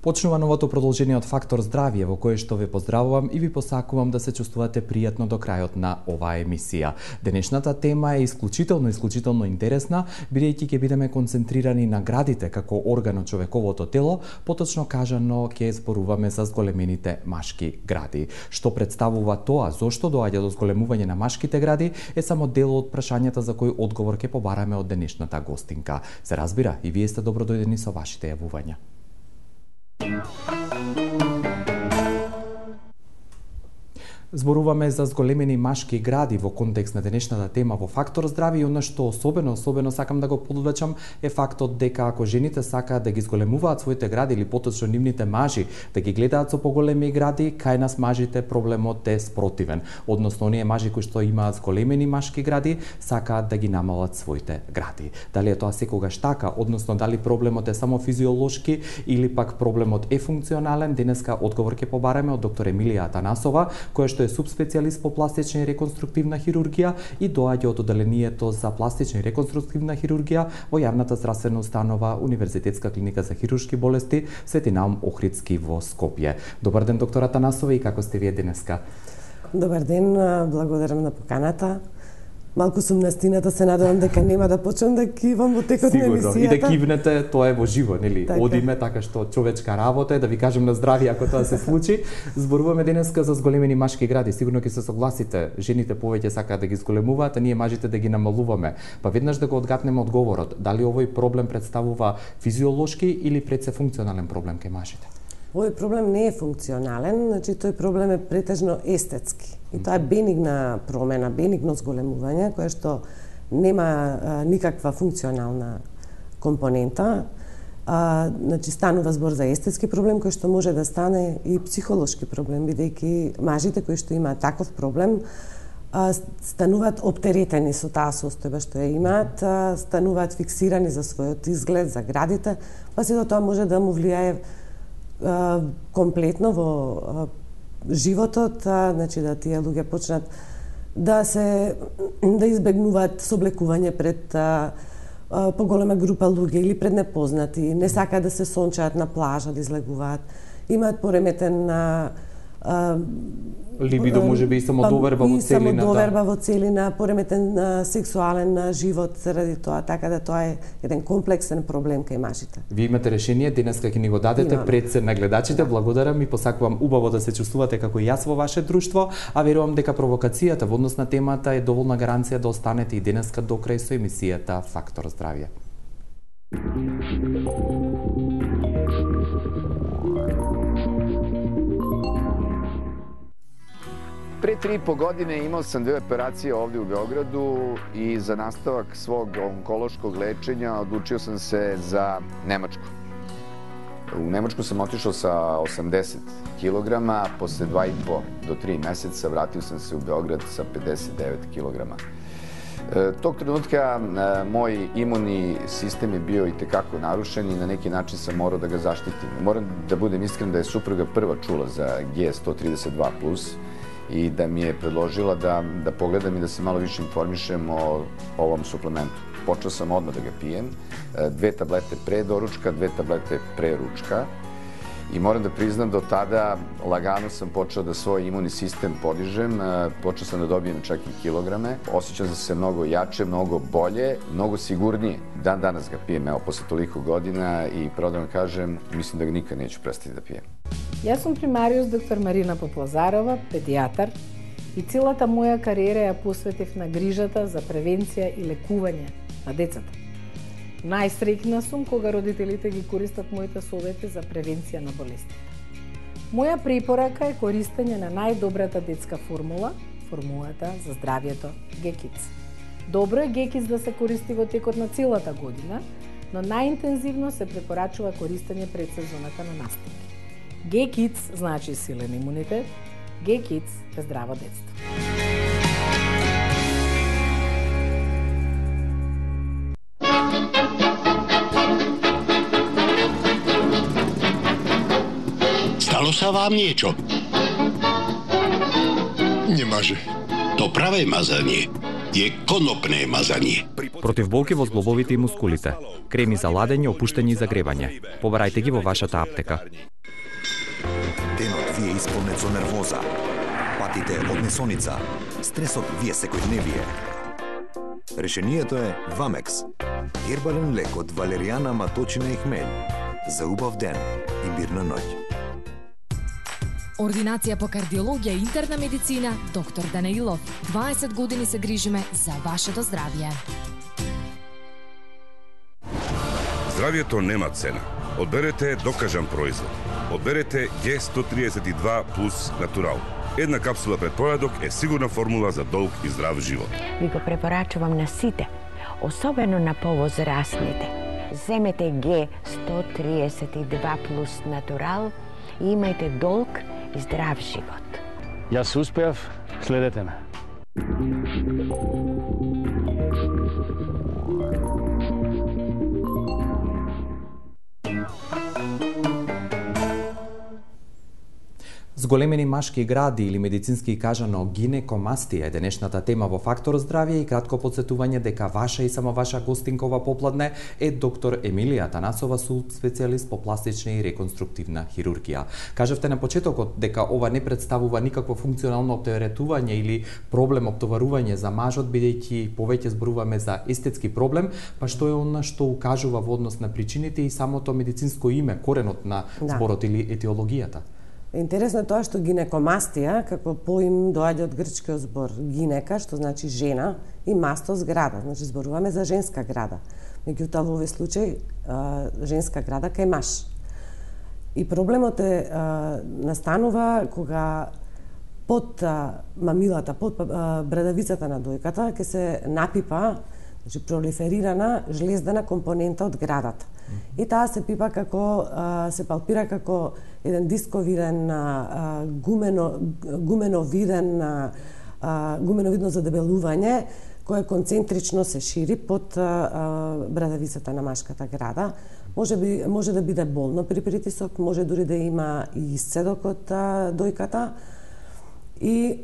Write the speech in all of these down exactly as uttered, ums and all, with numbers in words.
Почнува новото продолжение од Фактор здравје, во кое што ве поздравувам и ви посакувам да се чувствувате пријатно до крајот на оваа емисија. Денешната тема е исклучително, исклучително интересна, бидејќи ќе бидеме концентрирани на градите како орган од човековото тело, поточно кажано ќе зборуваме за зголемените машки гради. Што представува тоа, зошто доаѓа до зголемување на машките гради, е само дел од прашањата за кои одговор ќе побараме од денешната гостинка. Се разбира, и вие сте добродојдени со вашите јавувања. Зборуваме за зголемени машки гради во контекст на денешната тема во Фактор здравје, и она што особено, особено сакам да го подвечам е фактот дека ако жените сакаат да ги зголемуваат своите гради или поточно нивните мажи да ги гледаат со поголеми гради, кај нас мажите проблемот е спротивен. Односно, оние мажи кои што имаат зголемени машки гради сакаат да ги намалат своите гради. Дали е тоа секогаш така, односно дали проблемот е само физиолошки или пак проблемот е функционален, денеска одговор ќе побараме од доктор Емилија Атанасова, која што е субспецијалист по пластична и реконструктивна хирургија и доаѓа од одделението за пластична и реконструктивна хирургија во јавната здравствена установа Универзитетска клиника за хируршки болести Свети Наум Охридски во Скопје. Добар ден, доктор Атанасова, и како сте вие денеска? Добар ден, благодарам на поканата. Малку сум настината, се надевам дека нема да почнам да кивам во текот на емисијата. И да кивнете, тоа е во живо, нели? Така. Одиме така што човечка работа е, да ви кажем на здравје ако тоа се случи. Зборуваме денеска за зголемени машки гради. Сигурно ќе се согласите, жените повеќе сакаат да ги зголемуваат, а ние мажите да ги намалуваме. Па веднаш да го одгатнеме одговорот, дали овој проблем представува физиолошки или пред се функционален проблем кај мажите? Овој проблем не е функционален, значи тој проблем е претежно естетски. И тоа е бенигна промена, бенигно зголемување, кое што нема а, никаква функционална компонента. А, значи станува збор за естетски проблем кој што може да стане и психолошки проблем, бидејќи мажите кои што имаат таков проблем а, стануваат оптеретени со таа состојба што ја имаат, а, стануваат фиксирани за својот изглед, за градите, па сето тоа може да му влијае комплетно во животот, значи да тие луѓе почнат да се да избегнуваат соблекување пред а, а, поголема група луѓе или пред непознати, не сакаат да се сончаат на плажа, да излегуваат, имаат пореметен а, а, либидо, може би и самодоверба во целина. И самодоверба во целина, пореметен а, сексуален а, живот заради тоа, така да тоа е еден комплексен проблем кај мажите. Вие имате решение, денеска ќе ни го дадете Имам. пред се на гледачите. Благодарам и посакувам убаво да се чувствувате како и јас во ваше друштво, а верувам дека провокацијата во однос на темата е доволна гаранција да останете и денеска до крај со емисијата Фактор здравје. Pre tri i po godine imao sam dve operacije ovdje u Beogradu i za nastavak svog onkološkog lečenja odlučio sam se za Nemačku. U Nemačku sam otišao sa osamdeset kilograma, posle dva i po do tri meseca vratio sam se u Beograd sa pedeset devet kilograma. Tog trenutka moj imunni sistem je bio i tekako narušen i na neki način sam morao da ga zaštitim. Moram da budem iskren da je supruga prva čula za G sto trideset dva plus i da mi je predložila da, da pogledam i da se malo više informišem o ovom suplementu. Počeo sam odmah da ga pijem, dve tablete pre doručka, dve tablete pre ručka i moram da priznam da od tada lagano sam počeo da svoj imunni sistem podižem, počeo sam da dobijem čak i kilograme, osjećam sam se mnogo jače, mnogo bolje, mnogo sigurnije. Dan danas ga pijem, evo, posle toliko godina i pravo da vam kažem, mislim da ga nikad neću prestati da pijem. Јас сум примариус доктор Марина Поплазарова, педијатар, и целата моја кариера ја посветив на грижата за превенција и лекување на децата. Најсреќна сум кога родителите ги користат моите совети за превенција на болестите. Моја препорака е користење на најдобрата детска формула, формулата за здравјето Г-Kids. Добро е Г-Kids да се користи во текот на целата година, но најинтензивно се препорачува користење пред сезоната на настапи. Г-Kids значи силен имунитет, Г-Kids е здраво детство. Stalo sa vám niečo? Немаже. То праве мазање е конопне мазање. Против болки во зглобовите и мускулите, креми за ладење, опуштање и загревање. Побарајте ги во вашата аптека. ви е исполнет со нервоза. Патите од несоница. Стресот ви е секојдневие. Решението е Вамекс. Гербален лек од валеријана, маточина и хмелј. За убав ден и мирна ноќ. Ординација по кардиологија и интерна медицина, доктор Данаилов. дваесет години се грижиме за вашето здравје. Здравјето нема цена. Одберете докажан производ. Одберете Г сто триесет и два плюс Натурал. Една капсула пред појадок е сигурна формула за долг и здрав живот. Ви го препорачувам на сите, особено на повозрастните. Земете Г сто триесет и два плюс Натурал и имајте долг и здрав живот. Јас успеав, следете ме. Зголемени машки гради или медицински кажано гинекомастија е денешната тема во Фактор здравје и кратко подсетување дека ваша и само ваша гостинкова попладне е доктор Емилија Танасова, специјалист по пластична и реконструктивна хирургија. Кажавте на почетокот дека ова не представува никакво функционално оптеретување или проблем оптоварување за мажот, бидејќи повеќе зборуваме за естетски проблем, па што е она што укажува во однос на причините и самото медицинско име, коренот на зборот да. Или етиологијата? Интересно е тоа што гинекомастија, како поим, доаѓа од грчкиот збор гинека, што значи жена, и мастос града, значи зборуваме за женска града. Меѓутоа во овој случај женска града кај маж. И проблемот е настанува кога под мамилата, под брадавицата на дојката ќе се напипа, значи пролиферирана жлездена компонента од градата. И таа се пипа како, се палпира како еден дисковиден, гумено, гуменовиден, гуменовидно задебелување, кое концентрично се шири под брадавицата на машката града. Може, би, може да биде болно при притисок, може дури да има и исцедок од дојката. И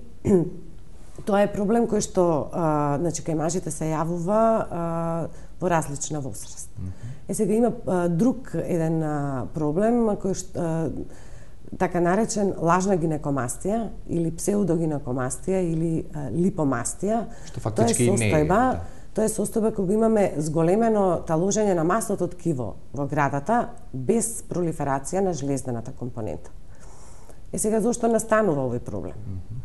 тоа е проблем кој што, а, значи, кај мажите се јавува а, во различна возраст. Mm -hmm. Е, сега има а, друг еден а, проблем, кој што, а, така наречен лажна гинекомастија, или псевдогинекомастија, или а, липомастија. Што фактички тоа е состојба, не е. Да. Тоа е состојба кога имаме зголемено таложење на масното ткиво во градата, без пролиферација на жлездената компонента. Е, сега, зошто настанува овој проблем? Mm -hmm.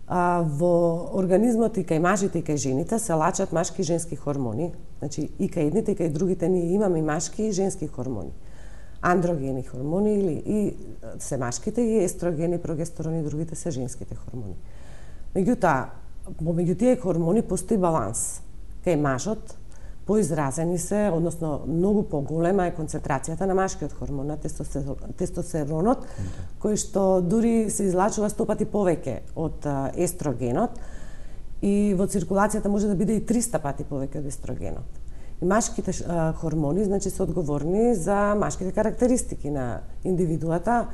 А, во организмот и кај мажите и кај жените се лачат машки и женски хормони. Значи, и кај едните и кај другите ние имаме и машки и женски хормони. Андрогени хормони или и се машките, и естрогени, прогестерони, другите се женските хормони. Меѓутоа, помеѓу тие хормони постои баланс. Кај мажот поизразени се, односно многу поголема е концентрацијата на машкиот хормон, на тестостеронот, кој што дури се излачува сто пати повеќе од естрогенот и во циркулацијата може да биде и триста пати повеќе од естрогенот. И машките хормони, значи, се одговорни за машките карактеристики на индивидуата,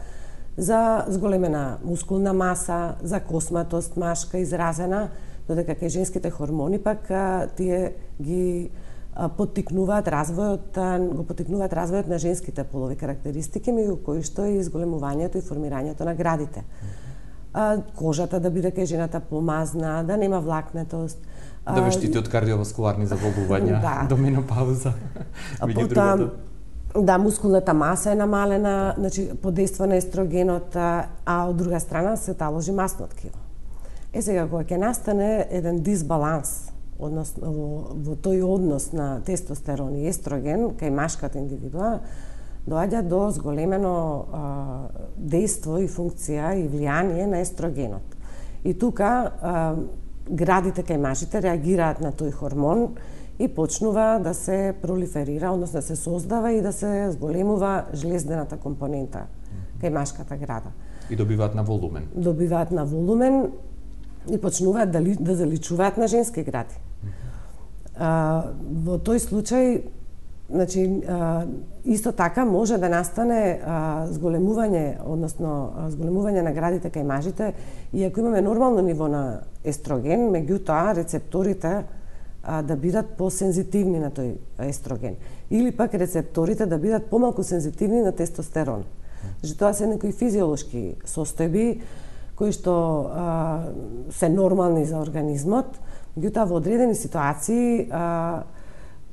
за зголемена мускулна маса, за косматост машка изразена, додека кај женските хормони пак тие ги поттикнуваат развојот, го поттикнуваат развојот на женските полови карактеристики, меѓу кои што е изголемувањето и формирањето на градите. А, кожата да биде кај жената помазна, да нема влакнетост. Да ве штити од кардиоваскуларни заболувања да. До менопауза. Меѓу другото. Да, мускулната маса е намалена, значи подейства на естрогенот, а од друга страна се таложи масно ткиво. Е, сега, кога ќе настане еден дисбаланс, односно во, во тој однос на тестостерон и естроген кај машката индивидуа, доаѓа до зголемено а, дејство и функција и влијание на естрогенот. И тука а, градите кај мажите реагираат на тој хормон и почнува да се пролиферира, односно да се создава и да се зголемува жлездената компонента кај машката града. И добиваат на волумен. Добиваат на волумен и почнуваат да, ли, да заличуваат на женски гради. А, во тој случај, значи, а, исто така може да настане а, зголемување, односно а, зголемување на градите кај мажите, и ако имаме нормално ниво на естроген, меѓутоа рецепторите а, да бидат посензитивни на тој естроген, или пак рецепторите да бидат помалку сензитивни на тестостерон. Значи тоа се некои физиолошки состојби кои што а, се нормални за организмот, меѓутоа во одредени ситуации а,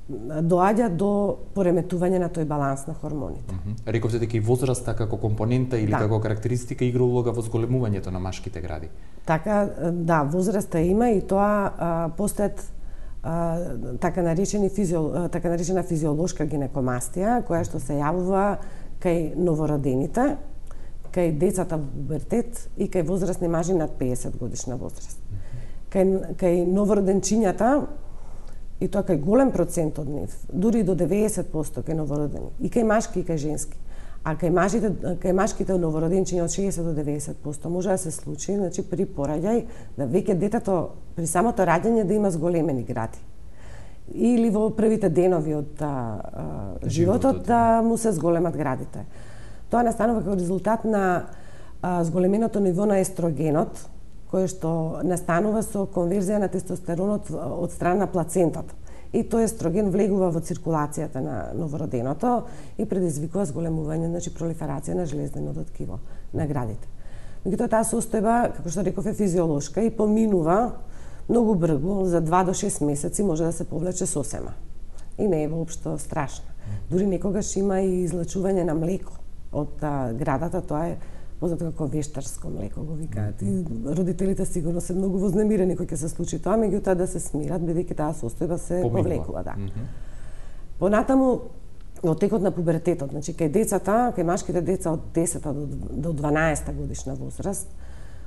доаѓа до пореметување на тој баланс на хормоните. Mm -hmm. Рековте дека и возраста како компонента или да. како карактеристика игра улога во зголемувањето на машките гради. Така, да, возраста има и тоа а, постојат а, така наречени физиол, така наречена физиолошка гинекомастија, која што се јавува кај новородените, кај децата во пубертет и кај возрастни мажи над пеесет годишна возраст. Mm -hmm. Кај, кај новороденчињата, и тоа кај голем процент од нив, дури до деветдесет проценти кај новородени, и кај машки и кај женски. А кај мажите, кај машките новороденчиња од шеесет до деветдесет проценти може да се случи, значи при пораѓај, да веќе детето при самото раѓање да има зголемени гради. Или во првите денови од а, а, животот да му се зголемат градите. Тоа настанува како резултат на а, зголеменото ниво на естрогенот, кој што настанува со конверзија на тестостеронот од страна на плацентата. И тој естроген влегува во циркулацијата на новороденото и предизвикува зголемување, значи пролиферација на железненото ткиво на градите. Меѓутоа таа состојба, како што реков, е физиолошка и поминува многу брзо, за два до шест месеци може да се повлече сосема. И не е воопшто страшна. Дури некогаш има и излачување на млеко од а, градата, тоа е познато како вештарско млеко, го викаат. И родителите сигурно се многу вознемирени кога ќе се случи тоа, меѓутоа да се смират, бидејќи таа состојба се Поминува. повлекува. Да. Mm -hmm. Понатаму, во текот на пубертетот, значи кај децата, кај машките деца од десета до дванаесета годишна возраст,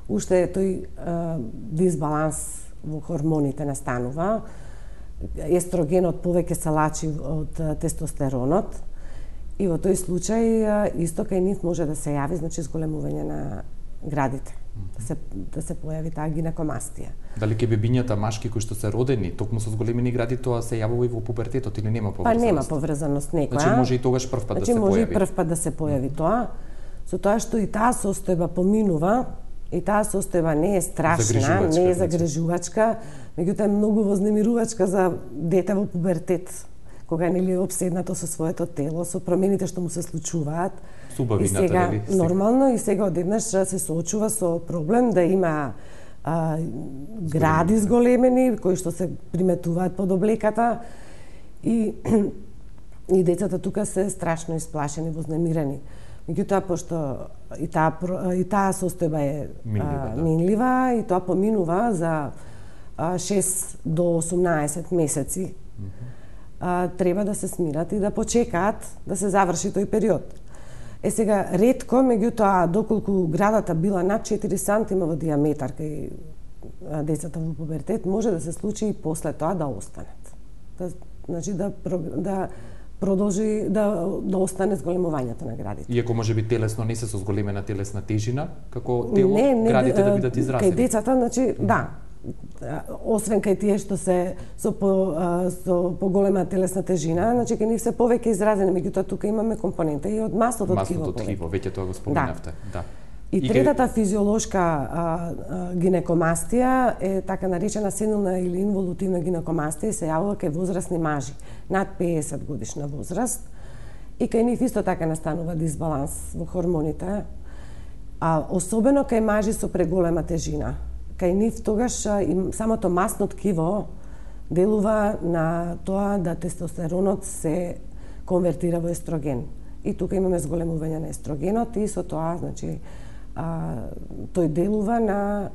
уште тој е, дисбаланс во хормоните настанува, естрогенот повеќе се лачи од тестостеронот, и во тој случај исто кај нив може да се јави, значи зголемување на градите, да се да се појави таа гинекомастија. Дали ке бебињата машки кои што се родени токму со зголемени гради, тоа се јавува и во пубертетот или нема поврзаност? Па нема поврзаност некоја. Значи може и тогаш прв пат значи, да се појави. Значи може и прв пат да се појави тоа, со тоа што и таа состојба поминува, и таа состојба не е страшна, не е загрижувачка, меѓутоа е многу вознемирувачка за дете во пубертет, кога нели е обседнато со своето тело, со промените што му се случуваат. Субавината, и сега, дали? Нормално, и сега одеднаш се соочува со проблем да има а, гради зголемени, кои што се приметуваат под облеката, и, и децата тука се страшно исплашени, вознемирени. Меѓутоа, пошто и таа, и таа состојба е минлива, да. минлива и тоа поминува за а, шест до осумнаесет месеци, mm -hmm. а, треба да се смират и да почекаат да се заврши тој период. Е сега, ретко, меѓутоа, доколку градата била над четири сантиметра во диаметар кај децата во пубертет, може да се случи и после тоа да останат. Да, значи, да, да продолжи да, да остане зголемувањето на градите. Иако може би телесно не се со зголемена телесна тежина, како тело, не, не, градите да бидат изразени. Кај децата, значи, да, освен кај тие што се со по, со поголема телесна тежина, значи кај нив се повеќе изразени, меѓутоа тука имаме компонента и од масното ткиво. Масното ткиво, веќе тоа го споменавте. Да. да. И, и третата физиолошка а, а, гинекомастија е така наречена сенилна или инволутивна гинекомастија и се јавува кај возрастни мажи над пеесет годишна возраст, и кај нив исто така настанува дисбаланс во хормоните, а особено кај мажи со преголема тежина. Кај нив тогаш и самото масно ткиво делува на тоа да тестостеронот се конвертира во естроген. И тука имаме зголемување на естрогенот и со тоа, значи, а, тој делува на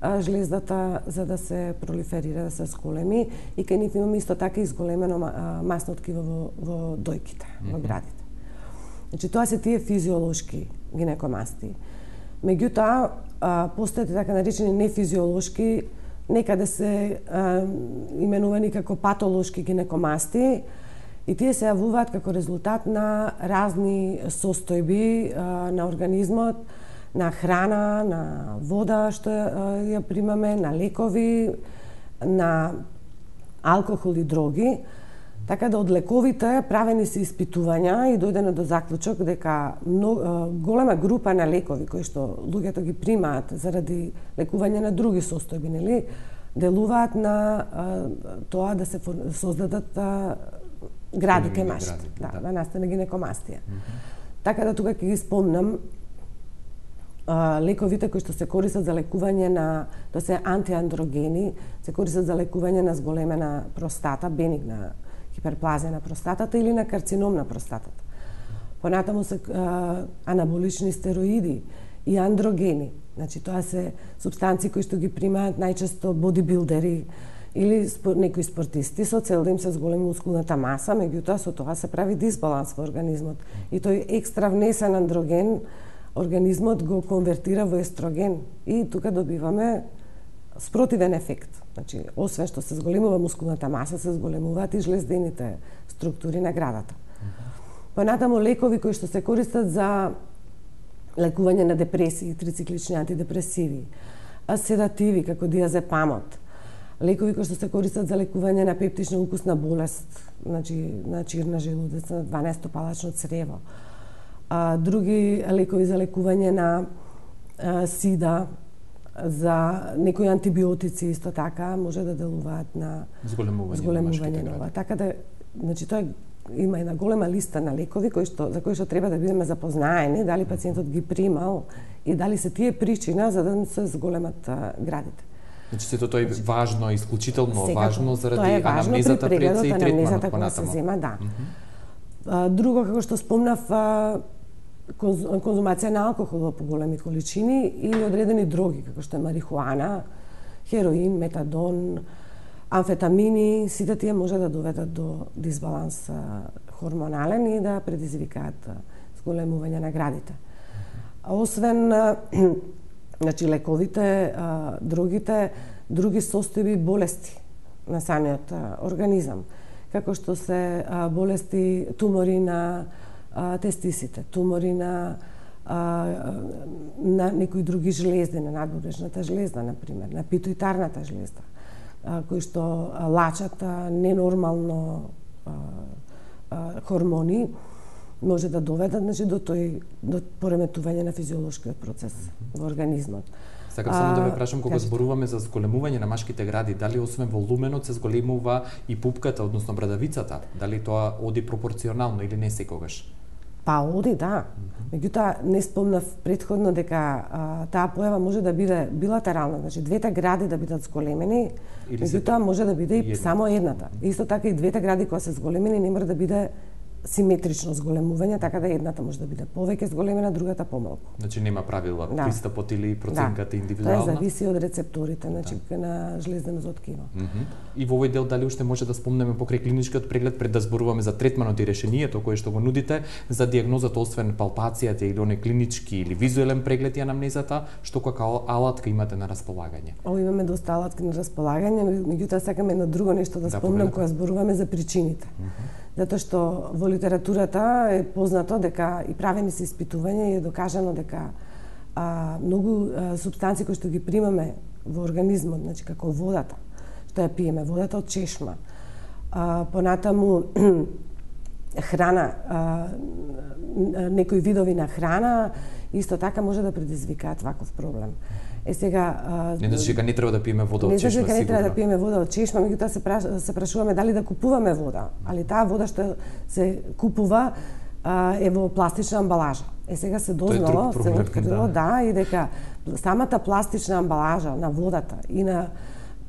а, жлездата за да се пролиферира, да се зголеми, и кај нив имаме исто така изголемено а, масно ткиво во, во дојките, mm -hmm. во градите. Значи, тоа се тие физиолошки гинекомастии. Меѓутоа, постојат така наречени нефизиолошки, некаде се а, именувани како патолошки гинекомастии, и тие се јавуваат како резултат на разни состојби а, на организмот, на храна, на вода што ја, ја примаме, на лекови, на алкохол и дроги. Така да од лековите правени се испитувања и дојдено до заклучок дека много, голема група на лекови кои што луѓето ги примаат заради лекување на други состојби, нели, делуваат на а, тоа да се создадат а, гради кај машите, да, да, да настане гинекомастија. Mm -hmm. Така да тука ќе ги спомнам а, лековите кои што се користат за лекување на, тоа се антиандрогени, се користат за лекување на зголемена простата, бенигна хиперплазија на простатата или на карцином на простатата. Понатаму се а, анаболични стероиди и андрогени. Значи тоа се супстанции кои што ги примаат најчесто бодибилдери или спор, некои спортисти со цел да им се зголеми мускулната маса, меѓутоа со тоа се прави дисбаланс во организмот. И тој екстра внесен андроген организмот го конвертира во естроген и тука добиваме спротивен ефект. Значи, освен што се зголемува мускулната маса, се зголемуваат и жлездените структури на градата. Понатаму лекови кои што се користат за лекување на депресии, трициклични антидепресиви, седативи како диазепамот, лекови кои што се користат за лекување на пептична укусна болест, значи на чирна желудец, на дванаесто-палачно црево, а, други лекови за лекување на а, сида, за некои антибиотици исто така може да делуваат на зголемување, зголемување на ова. Така да, значи тоа има една голема листа на лекови кои што за кои што треба да бидеме запознаени, дали пациентот ги примал и дали се тие причина за да се зголемат а, градите. Значи сето тоа е важно, исклучително Секако, важно заради анамнезата пред се и третманот понатаму. Се зема, да. Mm -hmm. Друго како што спомнав, конзумација на алкохол во поголеми количини или одредени дроги како што е марихуана, хероин, метадон, амфетамини, сите тие може да доведат до дисбаланс хормонален и да предизвикаат зголемување на градите. Освен значи лековите, другите, други состојби болести на самиот организам, како што се болести, тумори на тестисите, тумори на на некои други жлезди, на надбрежната жлезда, например, на питоитарната жлезда, кои што лачат ненормално хормони, може да доведат, значи, до тој до пореметување на физиолошкиот процес во организмот. Сакам само да ве прашам, кога зборуваме за зголемување на машките гради, дали освен волуменот се зголемува и пупката, односно брадавицата? Дали тоа оди пропорционално или не секогаш? Па оди, да. Меѓутоа, не спомнав претходно дека а, таа појава може да биде билатерална, значи двете гради да бидат зголемени, меѓутоа може да биде и една. Само едната. Исто така и двете гради кои се зголемени не мора да биде симетрично зголемување, така да едната може да биде повеќе зголемена, другата помалку. Значи нема правила, да. Пристапот или проценката да. индивидуална? Тоа зависи од рецепторите, значи да. на жлезденото ткиво. Mm -hmm. И во овој дел дали уште може да спомнеме покрај клиничкиот преглед пред да зборуваме за третманот и решението кое што го нудите за дијагнозата, освен палпацијата или оној клинички или визуелен преглед и анамнезата, што како алатка имате на располагање? Ово имаме доста алатки на располагање, меѓутоа сакам едно друго нешто да, да спомнам кога зборуваме за причините. Mm -hmm. Затоа што во литературата е познато дека и правени се испитувања и е докажано дека а, многу а, супстанции кои што ги примаме во организмот, значи како водата, што ја пиеме, водата од чешма, а, понатаму храна, а, некои видови на храна, исто така може да предизвикаат ваков проблем. Е сега не значи дека не треба да пиеме вода од чешма, сигурно. Не значи дека не треба да пиеме вода од чешма, меѓутоа се праш, се прашуваме дали да купуваме вода, али таа вода што се купува а, е во пластична амбалажа. Е сега се дознало, се открило, да. да, и дека самата пластична амбалажа на водата и на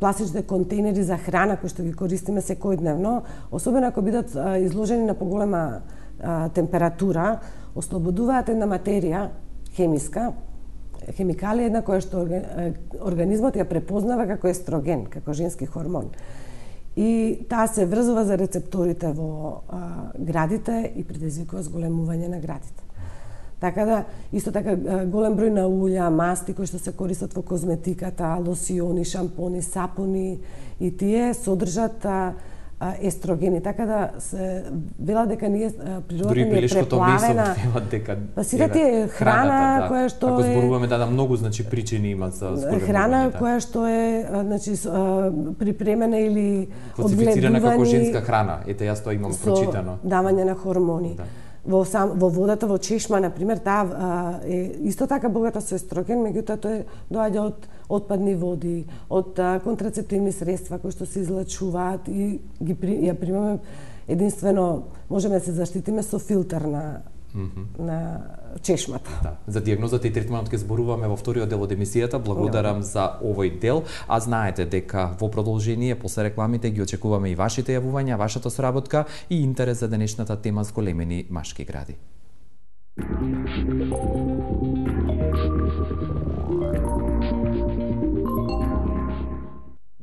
пластичните контейнери за храна кои што ги користиме секојдневно, особено ако бидат а, изложени на поголема а, температура, ослободуваат една материја хемиска, хемикалија една која што организмот ја препознава како естроген, како женски хормон. И таа се врзува за рецепторите во а, градите и предизвикува зголемување на градите. Така да, исто така голем број на улја, масти кои што се користат во козметиката, лосиони, шампони, сапуни и тие содржат а, естрогени, така да се вела дека ние природата ни е преплавена. Дека па сите тие храна да. која што Ако зборуваме да, да многу значи причини имаат за зголемување. Храна да. која што е значи припремена или класифицирана како женска храна. Ете јас тоа имам прочитано. Давање на хормони. Да. Во сам во водата во чешма на пример таа е исто така богата со естроген, меѓутоа тоа доаѓа од отпадни води, од а, контрацептивни средства кои што се излачуваат и ги при, ја примаме единствено можеме да се заштитиме со филтер на Mm -hmm. на чешмата. Да. За дијагнозата и третманот ќе зборуваме во вториот дел од емисијата. Благодарам no. за овој дел, а знаете дека во продолжение после рекламите ги очекуваме и вашите јавувања, вашата соработка и интерес за денешната тема зголемени машки гради.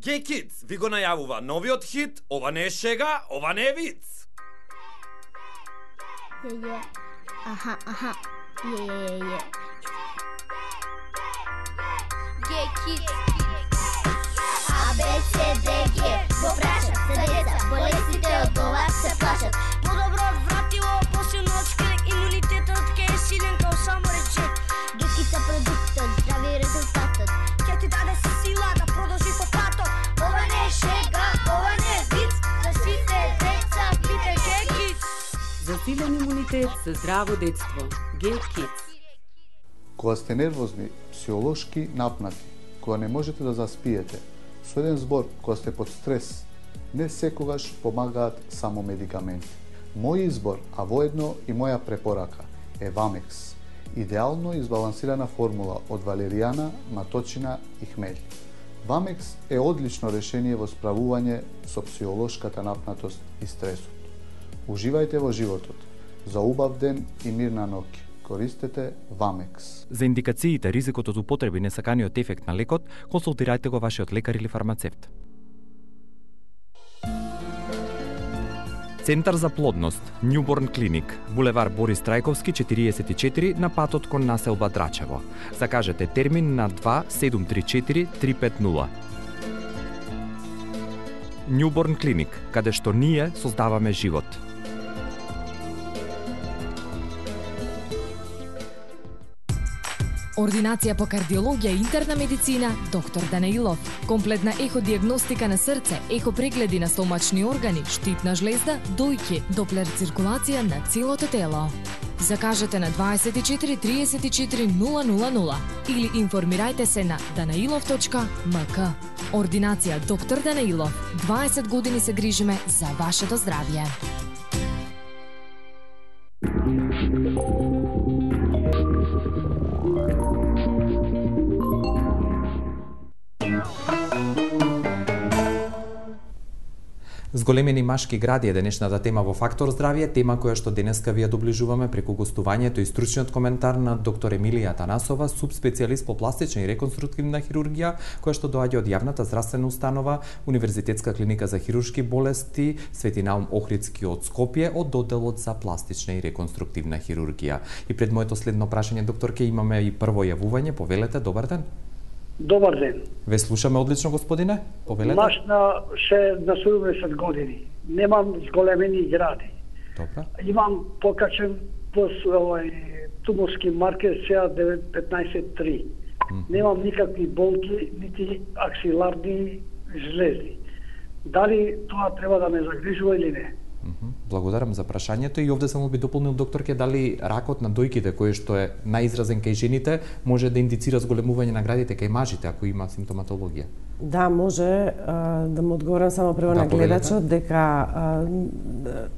Gay Kids ви го најавува новиот хит, ова не е шега, ова не е виц. Е, е. Аха, аха. Е, е, е. Gay Kids. А, Б, С, Д, Г. Го прашат за деца, болестите од ова се плашат. Подобро вратило, после ночка, имунитетот ке е силен као само речет. Гекица продуктот, здрави резултатот. Ке ти даде сила да продолжи по патот. Ова не е шега, ова не е виц. За сите деца, пите Gay Kids. За силен имунитет, за здраво детство. Gay Kids. Кога сте нервозни, психолошки напнати, кога не можете да заспиете, со еден збор, кога сте под стрес, не секогаш помагаат само медикаменти. Мој избор, а воедно и моја препорака, е Вамекс. Идеално избалансирана формула од валеријана, маточина и хмелј. Вамекс е одлично решение во справување со психолошката напнатост и стресот. Уживајте во животот. За убав ден и мирна ноќ. Користете Вамекс. За индикациите, ризикот од употреба и несаканиот ефект на лекот, консултирајте го вашиот лекар или фармацевт. Центар за плодност, Newborn Clinic, булевар Борис Трајковски четириесет и четири на патот кон населба Драчево. Закажете термин на два седум три четири три пет нула. Newborn Clinic, каде што ние создаваме живот. Ординација по кардиологија и интерна медицина, доктор Данаилов. Комплетна еходијагностика на срце, ехопрегледи на стомачни органи, штитна жлезда, дојки, доплер циркулација на целото тело. Закажете на дваесет и четири триесет и четири нула нула нула или информирајте се на данаилов точка ем ка. Ординација доктор Данаилов. дваесет години се грижиме за вашето здравје. Зголемени машки гради е денешната тема во Фактор здравје, тема која што денеска ви ја доближуваме преку гостувањето и стручниот коментар на доктор Емилија Танасова, субспецијалист по пластична и реконструктивна хирургија, која што доаѓа од јавната здравствена установа Универзитетска клиника за хируршки болести Свети Наум Охридски од Скопје, од одделот за пластична и реконструктивна хирургија. И пред моето следно прашање, докторке, имаме и прво јавување. Повелете, добар ден. Добар ден. Ве слушаме одлично, господине. Повелете. Маш на ше на седумдесет години. Немам зголемени гради. Добра. Имам покачен пос овој туморски маркер С А девет петнаесет три. Mm -hmm. Немам никакви болки, нити аксиларни жлезди. Дали тоа треба да ме загрижува или не? Благодарам за прашањето и овде само би дополнил, докторке, дали ракот на дојките, кој што е најизразен кај жените, може да индицира зголемување на градите кај мажите, ако има симптоматологија? Да, може. А, да му одговорам само прво да, на гледачот, дека а,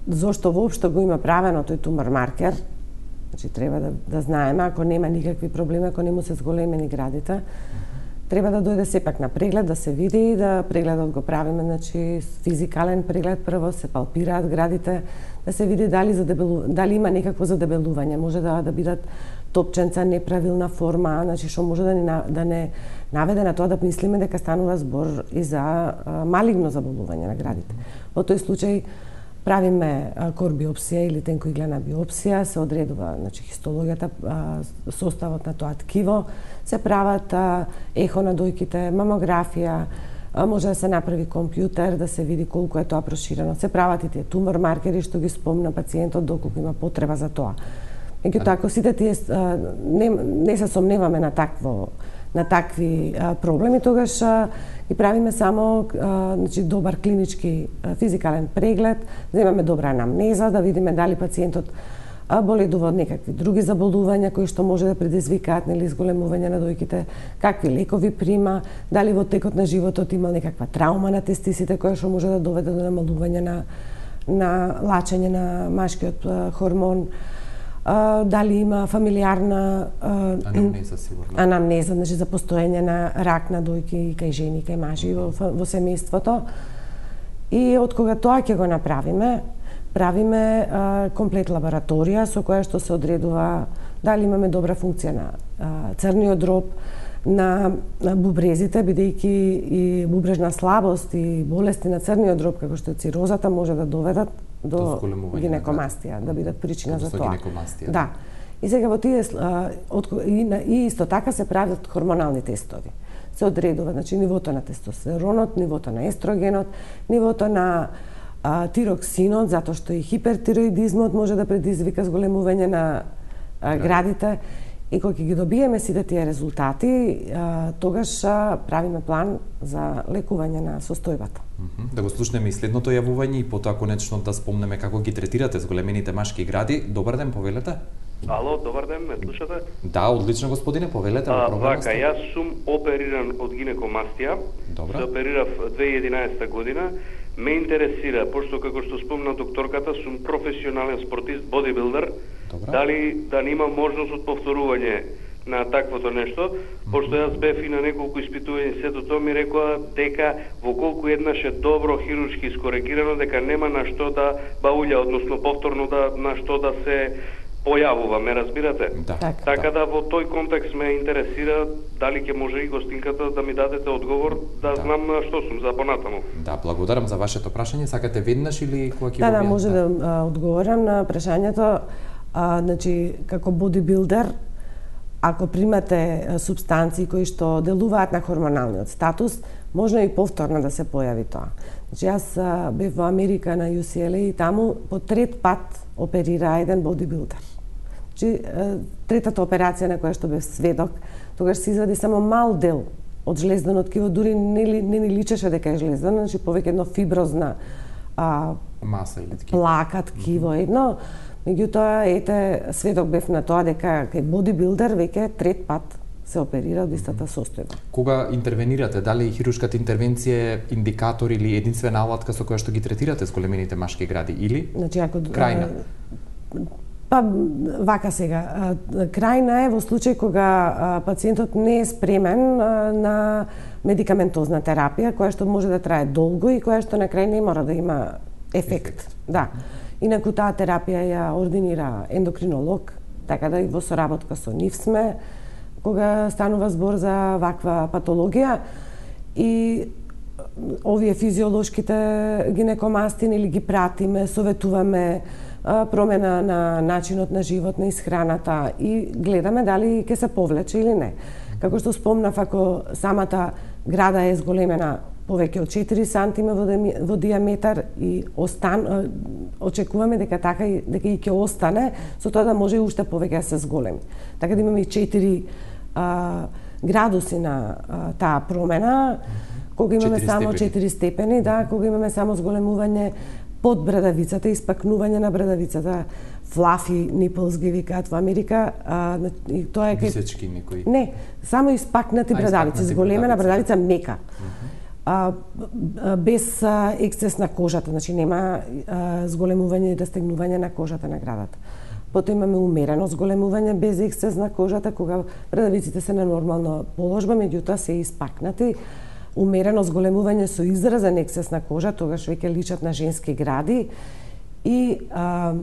зошто воопшто го има правено тој тумор маркер, значи треба да, да знаеме, ако нема никакви проблеми, ако не му се зголемени градите, треба да дојде сепак на преглед, да се види, да прегледот го правиме, значи физикален преглед, прво се палпираат градите, да се види дали задебелу, дали има некакво задебелување, може да да бидат топченца, неправилна форма, значи што може да не да не наведе на тоа да мислиме дека станува збор и за а, малигно заболување на градите. Во тој случај правиме корбиопсија или тенкоиглена биопсија, се одредува, значи, хистологијата, составот на тоа ткиво, се прават ехо на дојките, мамографија, може да се направи компјутер, да се види колку е тоа проширено. Се прават и тие тумор маркери што ги спомна пациентот доколку има потреба за тоа. Меѓутоа, ако сите тие не, не се сомневаме на такво на такви а, проблеми, тогаш а, и правиме само а, значи, добар клинички а, физикален преглед, да имаме добра анамнеза, да видиме дали пациентот а, боледува од некакви други заболувања кои што може да предизвикаат нели зголемување на дојките, какви лекови прима, дали во текот на животот имал некаква траума на тестисите која што може да доведе до намалување на на лачење на машкиот а, хормон. а, дали има фамилиарна а, анамнеза сигурно. Анамнеза, значи за постоење на рак на дојки кај жени, кај мажи во, во семејството. И од кога тоа ќе го направиме, правиме а, комплет лабораторија со која што се одредува дали имаме добра функција на а, црниот дроб, на, на бубрезите, бидејќи и бубрежна слабост и болести на црниот дроб, како што е цирозата, може да доведат до гинекомастија, да бидат причина за тоа. Да. И сега во тие и, и исто така се прават хормонални тестови. Се одредува, значи нивото на тестостеронот, нивото на естрогенот, нивото на а, тироксинот, затоа што и хипертироидизмот може да предизвика зголемување на а, градите. И кога ги добиеме сите тие резултати, тогаш правиме план за лекување на состојбата. Да го слушнеме и следното јавување и потоа конечно да спомнеме како ги третирате зголемените машки гради. Добар ден, повелете. Ало, добар ден, ме слушате? Да, одлично господине, повелете во програмата. Вака, јас сум опериран од гинекомастија. Добра. Се оперирав две илјади и единаесета година. Ме интересира, пошто како што спомна докторката, сум професионален спортист, бодибилдер. Добра. Дали да нема можност од повторување на таквото нешто, пошто јас бев и на неколку испитувања, сето тоа ми рекоа дека во колку еднаш е добро хируршки искоригирано, дека нема на што да баулја, односно повторно да на што да се појавува, ме разбирате? Да. Так, така да во тој контекст ме интересира дали ќе може и гостинката да ми дадете одговор, да, да. знам што сум за понатаму. Да, благодарам за вашето прашање. Сакате веднаш или кога ќе да, да, може да, да одговорам на прашањето. А, значи, како бодибилдер, ако примате субстанции кои што делуваат на хормоналниот статус, можно и повторно да се појави тоа. Значи, јас а, бев во Америка на Ю Си Ел Ей и таму по трет пат оперира еден бодибилдер. Значи, третата операција на која што бев сведок, тогаш се извади само мал дел од жлезданото ткиво, дури не, не ни личеше дека е жлездано, значи повеќе едно фиброзна а, маса или ткиво. Плака, ткиво, mm -hmm. едно. Меѓутоа, ете, сведок бев на тоа дека кај бодибилдер веќе трет пат се оперира од истата состојба. Кога интервенирате, дали хируршката интервенција е индикатор или единствена алатка со која што ги третирате зголемените машки гради или значи, ако, крајна? Па, вака сега, крајна е во случај кога пациентот не е спремен на медикаментозна терапија, која што може да трае долго и која што на крај не мора да има ефект. ефект. Да. Инаку таа терапија ја ординира ендокринолог, така да и во соработка со нив сме, кога станува збор за ваква патологија и овие физиолошките гинекомасти или ги пратиме, советуваме промена на начинот на живот, на исхраната и гледаме дали ќе се повлече или не. Како што спомнав, ако самата града е зголемена повеќе од четири сантиметри во диаметар и остан очекуваме дека така и дека и ќе остане, со тоа да може и уште повеќе да се зголеми. Така да имаме и четири а, градуси на а, таа промена, кога имаме само четири степени, да, кога имаме само зголемување под брадавицата, испакнување на брадавицата, флафи nipples ги викаат во Америка, а, и тоа е висечки некои. Не, само испакнати брадавици, зголемена брадавица мека. А, без а, ексцес на кожата, значи нема а, зголемување и растегнување на кожата на градата. Потоа имаме умерено зголемување без ексцес на кожата, кога брадавиците се на нормална положба, меѓутоа се испакнати. Умерено зголемување со изразен ексцес на кожа, тогаш веќе личат на женски гради и а,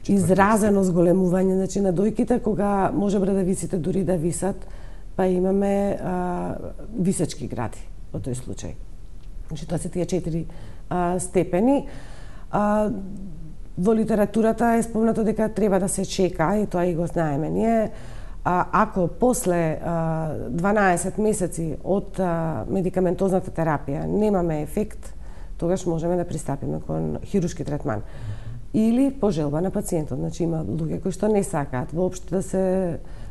изразено зголемување, значи на дојките, кога може брадавиците дури да висат, па имаме а, висечки гради во тој случај. Значи, тоа се тие четири а, степени. А, во литературата е спомнато дека треба да се чека, и тоа и го знаеме ние, а, ако после а, дванаесет месеци од а, медикаментозната терапија немаме ефект, тогаш можеме да пристапиме кон хируршки третман. Или по желба на пациентот. Значи, има луѓе кои што не сакаат воопшто да се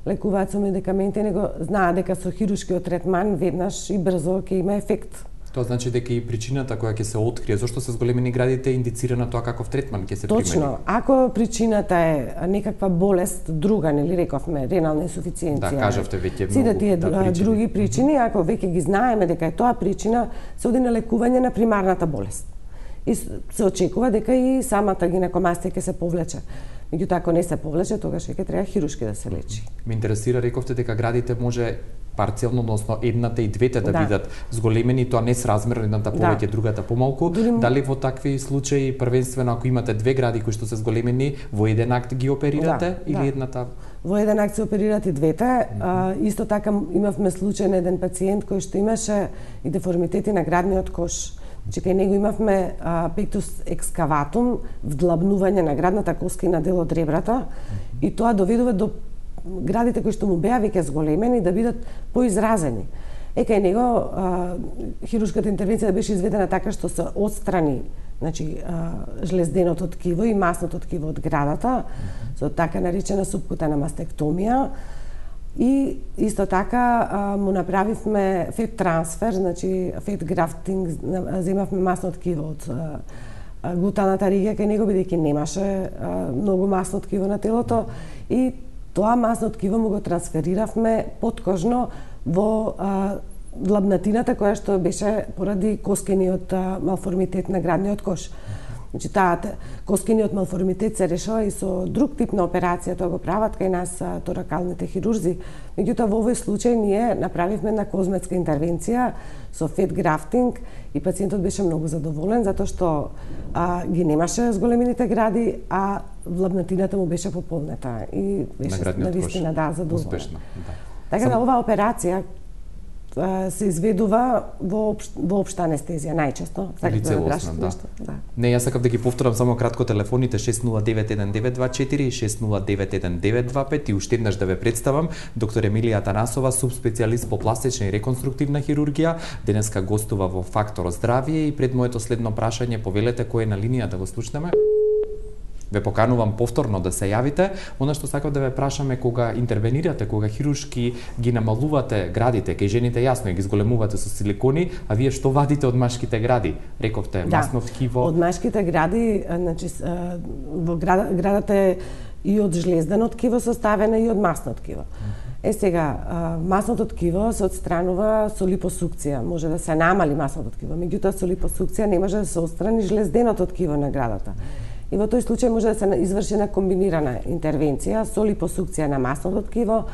лекуваат со медикаменти, него знаат дека со хируршкиот третман веднаш и брзо ќе има ефект. Тоа значи дека и причината која ќе се открие зошто се зголемени градите е индицирана тоа каков третман ќе се примени. Точно. Ако причината е некаква болест друга, нели рековме, ренална инсуфициенција. Да, кажавте веќе многу. Сите тие да, причини. други причини, ако веќе ги знаеме дека е тоа причина, се оди на лекување на примарната болест. И се очекува дека и самата гинекомастија ќе се повлече. Меѓутоа, ако не се повлече, тогаш веќе треба хирушки да се лечи. Ме интересира, рековте дека градите може парцелно, односно едната и двете да, да. бидат зголемени, тоа не сразмерно, едната повеќе, да. другата помалку. Дори... Дали во такви случаи, првенствено ако имате две гради кои што се зголемени, во еден акт ги оперирате, да, или да. едната? Во еден акт се оперират и двете. Mm-hmm. а, исто така имавме случај на еден пациент кој што имаше и деформитети на градниот кош. Значи, кај него имавме а, пектус екскаватум, вдлабнување на градната коска и на дел од ребрата, mm-hmm. и тоа доведува до градите кои што му беа веќе зголемени да бидат поизразени. Е, кај него а, хирушката интервенција беше изведена така што се отстрани, значи, а, жлезденото ткиво и масното ткиво од градата, mm-hmm. со така наречена субкутана мастектомија, и исто така а, му направивме фет трансфер, значи фет графтинг, земавме масно ткиво од а, глутаната ригија кај него, бидејќи немаше а, многу масно ткиво на телото, и тоа масно ткиво му го трансфериравме подкожно во а, длабнатината која што беше поради коскениот а, малформитет на градниот кош. Значи, таа коскениот малформитет се решава и со друг тип на операција, тоа го прават кај нас а, торакалните хирурзи. Меѓутоа, во овој случај ние направивме една козметска интервенција со фет графтинг и пациентот беше многу задоволен, затоа што а, ги немаше зголемените гради, а влабнатината му беше пополнета и беше навистина, да, задоволен. Успешно, да. Така да, оваа операција се изведува во, обш... во општа анестезија најчесто. Или целосно, да. да. Не, јас сакав да ги повторам само кратко телефоните шест нула девет еден девет два четири и шест нула девет еден девет два пет и уште еднаш да ве представам доктор Емилија Атанасова, субспецијалист по пластична и реконструктивна хирургија, денеска гостува во Фактор здравје, и пред моето следно прашање повелете кој е на линија да го слушнеме. Ве поканувам повторно да се јавите. Она што сакав да ве прашаме, кога интервенирате, кога хирушки ги намалувате градите, кај жените јасно ги зголемувате со силикони, а вие што вадите од машките гради? Рековте, да, масно ткиво. Од машките гради, значи во град, градата е и од жлездено ткиво составена и од масно ткиво. Е, сега, масното ткиво се отстранува со липосукција. Може да се намали масното ткиво, меѓутоа со липосукција не може да се отстрани жлезденото ткиво на градата. И во тој случај може да се изврши една комбинирана интервенција со липосукција на масното ткиво,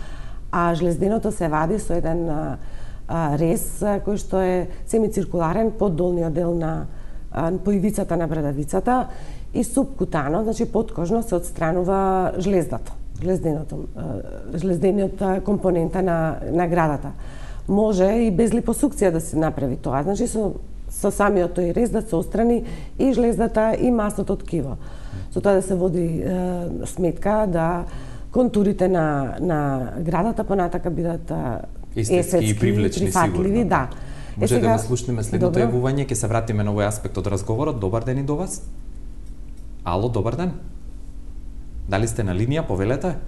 а жлезденото се вади со еден а, а, рез а, кој што е семициркуларен под долниот дел на а, по ивицата на брадавицата, и субкутано, значи подкожно се отстранува жлездата, жлезденото, а, жлездениот компонента на, на градата. Може и без липосукција да се направи тоа, значи со со самиот тој рез да се отстрани и жлездата и масното ткиво. Со тоа да се води е, сметка да контурите на, на градата понатака бидат естетски и привлечни, прифатливи, сигурно. Да. Може е, сега, да слушнеме следното јавување, ќе се вратиме на овој аспект од разговорот. Добар ден и до вас. Ало, добар ден. Дали сте на линија, повелете?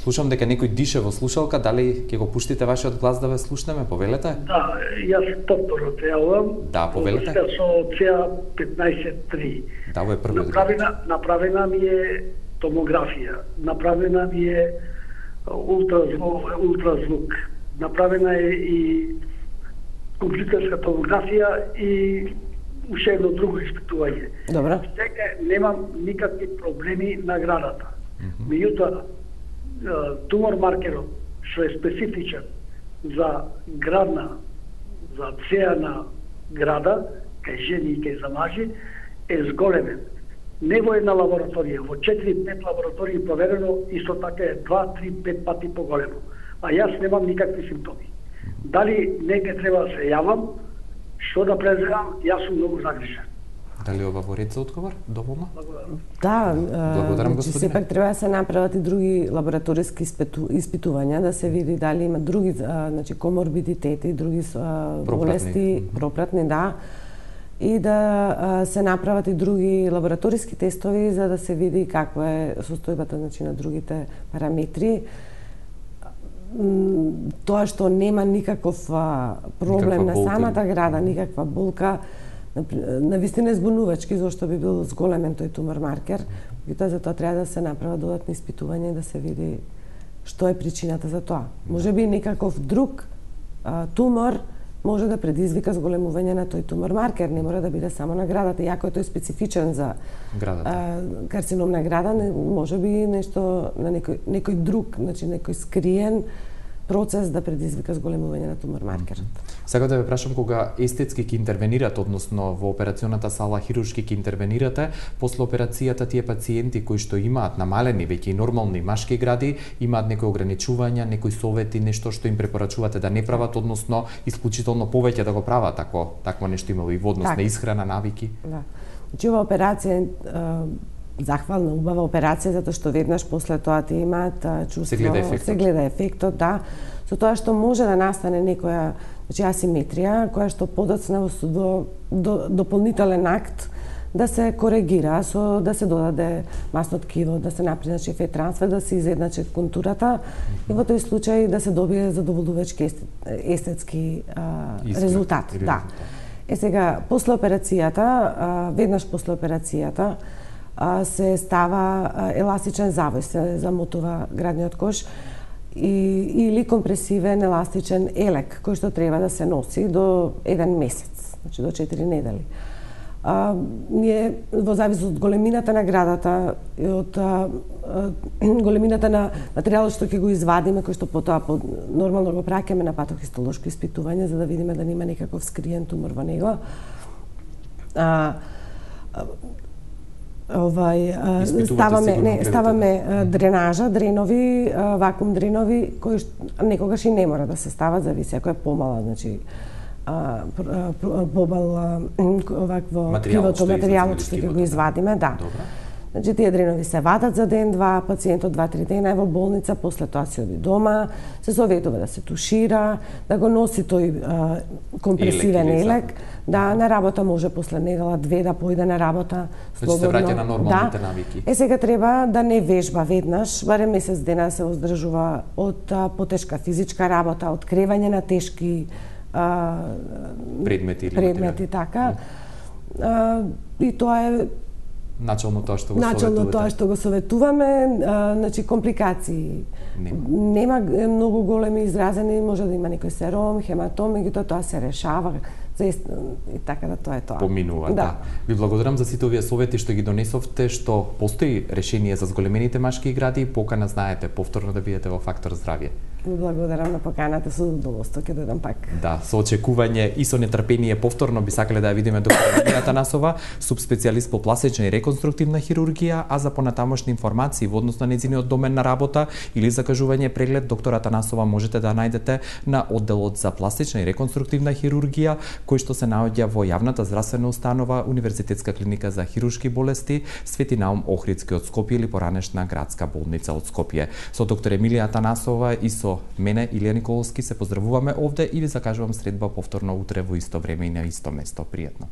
Слушам дека некој дише во слушалка, дали ќе го пуштите вашиот глас да ве слушнеме, повелете? Да, јас повторно те јавувам. Да, повелете. Со Цеа петнаесет три. Да, во е првиот. Направена, направена ми е томографија, направена ми е ултразвук, ултразвук. Направена е и компјутерска томографија и уште едно друго испитување. Добро. Сега немам никакви проблеми на градата. Меѓутоа, тумор маркерот што е специфичен за градна, за цеа на града, кај жени и кај за мажи, е зголемен. Не во една лабораторија, во четири-пет лаборатории проверено, исто така е два-три-пет пати поголемо. А јас немам никакви симптоми. Дали неке треба да се јавам, што да преземам, јас сум многу загрижен. Дали ова во ред за одговор? Доволно? Да, благодарам, господине. Сепак треба да се направат и други лабораториски испиту, испитувања, да се види дали има други, а, значи, коморбидитети, други а, болести, пропратни, да, и да а, се направат и други лабораториски тестови за да се види каква е состојбата, значи, на другите параметри. Тоа што нема никаков а, проблем никаква на самата града, никаква болка, на вистина е збунувачки зашто би бил зголемен тој тумор маркер, и тоа за тоа треба да се направат додатни испитувања и да се види што е причината за тоа. Може би некаков друг а, тумор може да предизвика зголемување на тој тумор маркер, не мора да биде само на градата, иако е тој специфичен за градата. А, карцином на града, може би нешто на некој некој друг, значи некој скриен процес да предизвика зголемување на тумор маркерот. Сега да ве прашам, кога естетски ќе интервенирате, односно во операционата сала хируршки ќе интервенирате, после операцијата тие пациенти кои што имаат намалени веќе и нормални машки гради, имаат некои ограничувања, некои совети, нешто што им препорачувате да не прават, односно исклучително повеќе да го прават, ако такво нешто има и во однос на исхрана, навики? Да. Значи ова операција захвална, убава операција, затоа што веднаш после тоа ти имаат чувство, се гледа ефектот, се гледа ефектот, да, со тоа што може да настане некоја, значи асиметрија, која што подоцна во до, дополнителен акт да се коригира, со да се додаде масно ткиво, да се направи значи фет трансфер, да се изедначи контурата и во тој случај да се добие задоволувачки естетски а, резултат, да. Е сега после операцијата, а, веднаш после операцијата се става еластичен завој, се замотува градниот кош и, или компресивен еластичен елек, кој што треба да се носи до еден месец, значи до четири недели. А, ние, во завис од големината на градата и од а, а, големината на материјалот што ќе го извадиме, кој што потоа по, нормално го праќаме на патохистолошко испитување, за да видиме да нема некаков скриен тумор во него. А, а, Овај ставаме не ставаме дренажа, дренови, вакуум дренови кои некогаш и не мора да се стават, зависи ако е помала, значи побал овакво кривото материјалот што ќе го извадиме, да. Значи тие дренови се вадат за ден-два, пациентот два-три дена е во болница, после тоа се оди дома, се советува да се тушира, да го носи тој а, компресивен елек, елек, да на работа може после недела две да појде на работа слободно. Значи се враќа на нормалните да. навики. Е сега треба да не вежба веднаш, барем месец дена да се воздржува од а, потешка физичка работа, од кревање на тешки а, предмети, предмети така. А, и тоа е начално тоа што го начално советувате. тоа што го советуваме, а, значи компликации нема. Нема многу големи изразени, може да има некој сером, хематом, меѓутоа тоа се решава за и така да тоа е тоа. Поминува, да. да. Ви благодарам за сите овие совети што ги донесовте, што постои решение за зголемените машки гради и покана знаете повторно да бидете во Фактор здравје. Благодарам на поканата, со задоволство ќе дојдам пак. Да, со очекување и со нетрпение повторно би сакале да ја видиме доктор Марина Атанасова, субспецијалист по пластична и реконструктивна хирургија, а за понатамошни информации во однос на нејзиниот домен на работа или закажување преглед доктор Атанасова можете да најдете на одделот за пластична и реконструктивна хирургија, кој што се наоѓа во јавната здравствена установа Универзитетска клиника за хируршки болести Свети Наум Охридски од Скопје или поранешна градска болница од Скопје. Со доктор Емилија Атанасова и со мене Илија Николовски се поздравуваме овде и ви закажувам средба повторно утре во исто време и на исто место. Пријатно.